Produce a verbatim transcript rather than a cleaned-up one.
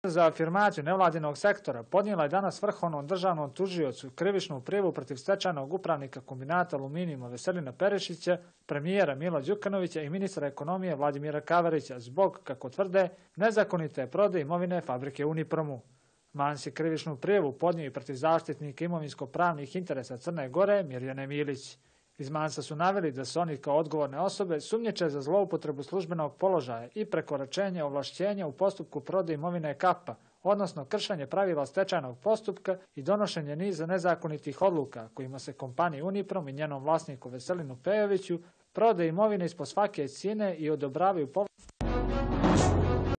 za afirmaciju nevladinog sektora podnijela je danas Vrhovnom državnom tužiocu krivičnu prijavu protiv stečajnog upravnika kombinata aluminijuma Veselina Perišića, premijera Mila Đukanovića i ministra ekonomije Vladimira Kavarića zbog, kako tvrde, nezakonite prodaje imovine fabrike Unipromu. Mans je krivičnu prijavu podnio i protiv zaštitnika imovinsko-pravnih interesa Crne Gore Mirjane Milić. Iz Mansa su naveli da su oni kao odgovorne osobe sumnjiče za zloupotrebu službenog položaja i prekoračenje ovlašćenja u postupku prodaje imovine Kapa, odnosno kršenje pravila stečajnog postupka i donošenje niza nezakonitih odluka kojima se kompaniji Uniprom i njenom vlasniku Veselinu Pejoviću prodaje imovine ispod svake cijene i odobravaju povlaštene